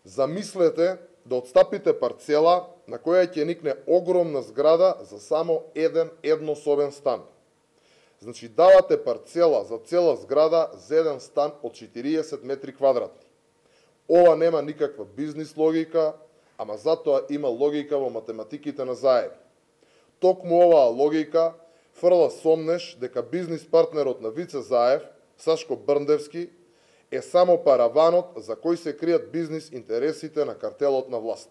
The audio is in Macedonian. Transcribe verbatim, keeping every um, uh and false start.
Замислете да отстапите парцела на која ќе никне огромна зграда за само еден еднособен стан. Значи, давате парцела за цела зграда за еден стан од четириесет метри квадратни. Ова нема никаква бизнис логика, ама затоа има логика во математиките на заеви. Токму оваа логика фрла сомнеш дека бизнис партнерот на Вице Заев, Сашко Брндевски, е само параванот за кој се кријат бизнис интересите на картелот на власт.